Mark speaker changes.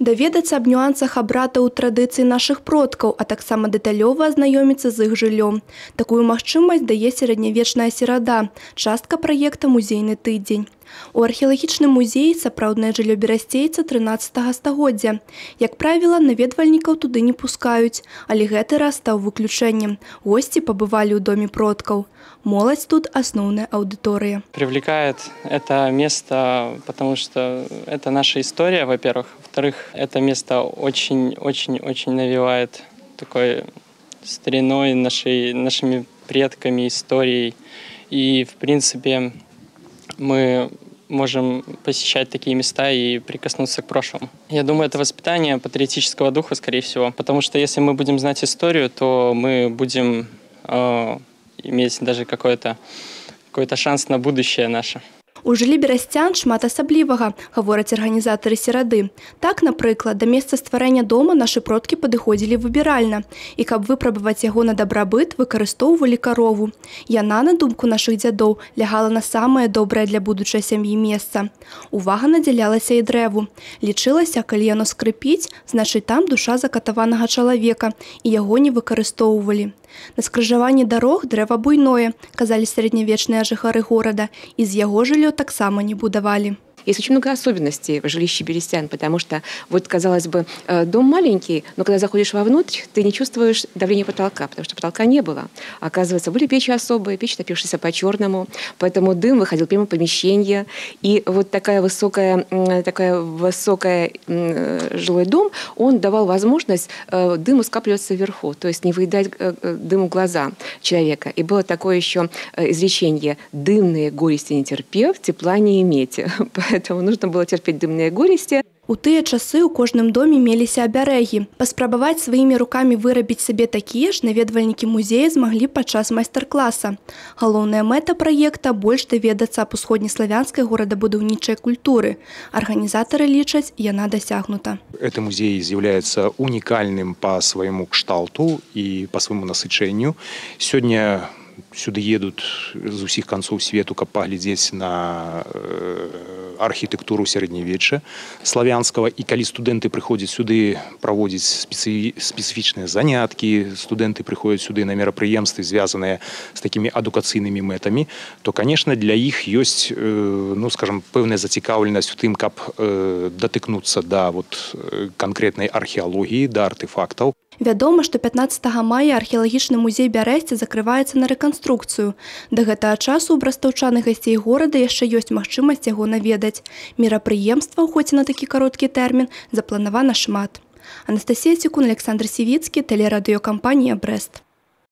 Speaker 1: Даведацца аб нюансах абрадаў традыцый нашых продкаў, а таксама дэталёва азнаёміцца з іх жыллём. Такую магчымасць дае сярэднявечная серада, частка праекта «Музейны тыдзень». У археалагічным музеі сапраўднае жыллё берасцейца 13 стагоддзя. Як правіла, наведвальнікаў туды не пускаюць, але гэты раз стаў выключэннем. Госці пабывалі ў доме продкаў. Моладзь тут основная аудитория.
Speaker 2: Привлекает это место, потому что это наша история, во-первых. Во-вторых, это место очень навевает такой стариной, нашими предками, историей. И, в принципе, мы можем посещать такие места и прикоснуться к прошлому. Я думаю, это воспитание патриотического духа, скорее всего. Потому что если мы будем знать историю, то мы будем иметь даже какой-то шанс на будущее наше.
Speaker 1: У жыллі берасцян шмат асаблівага, гавораць арганізатары серады. Так, напрыклад, да месца стварэння дома нашы продкі падыходзілі выбіральна. І каб выпрабаваць яго на дабрабыт, выкарыстоўвалі карову. Яна, на думку нашых дзядоў, лягала на самае добрае для будучай сям'і месца. Увага надзялялася і дрэву. Лічылася, калі яно скрыпіць, значыць там душа закатаванага чалавека, і яго не выкарыстоўвалі. На скрыжаванні дарог дрэва буйное, казалі сярэднявечныя жыхары горада, і з яго жыллё таксама не будавалі.
Speaker 3: Есть очень много особенностей в жилище берестян, потому что, вот, казалось бы, дом маленький, но когда заходишь вовнутрь, ты не чувствуешь давления потолка, потому что потолка не было. Оказывается, были печи особые, печь, топившиеся по-черному, поэтому дым выходил прямо в помещение. И вот такой высокий жилой дом, он давал возможность дыму скапливаться вверху, то есть не выедать дыму глаза человека. И было такое еще изречение: «Дымные горести не терпев, тепла не имейте». Поэтому нужно было терпеть дымные горести.
Speaker 1: У тыя часы ў кожным доме меліся абярэгі. Паспрабаваць сваімі рукамі вырабіць сабе такія ж наведвальнікі музея змаглі падчас майстар-класа. Галоўная мэта праекта – больш даведацца аб усходнеславянскай горадабудаўнічай культуры. Арганізатары лічаць, яна дасягнута.
Speaker 4: Этот музей является уникальным по своему кшталту и по своему насычэнню. Сегодня сюда едут з усіх канцоў свету, каб паглядзець на архітэктуру сярэднявечча славянскага. І калі студэнты прыходзяць сюды праводзіць спецыфічныя заняткі, студэнты прыходзяць сюды на мерапрыемствы, звязаныя з такімі адукацыйнымі мэтамі, то, конечно, для іх ёсць, ну, скажем, пэўная зацікаўленасць у тым, каб датыкнуцца да канкрэтнай археалогіі, да артефактаў.
Speaker 1: Вядома, што 15 мая археалагічны музей Бярэсці закрываецца на рэканструкцыю. Да гэтага часу ў брастаўчан і гасцей горада яшчэ ёсць магчымасць яго наведаць. Мерапрыемстваў, хоць і на такі кароткі тэрмін, запланавана шмат. Анастасія Цікун, Александр Сівіцкі, тэлерадыёкампанія «Брэст».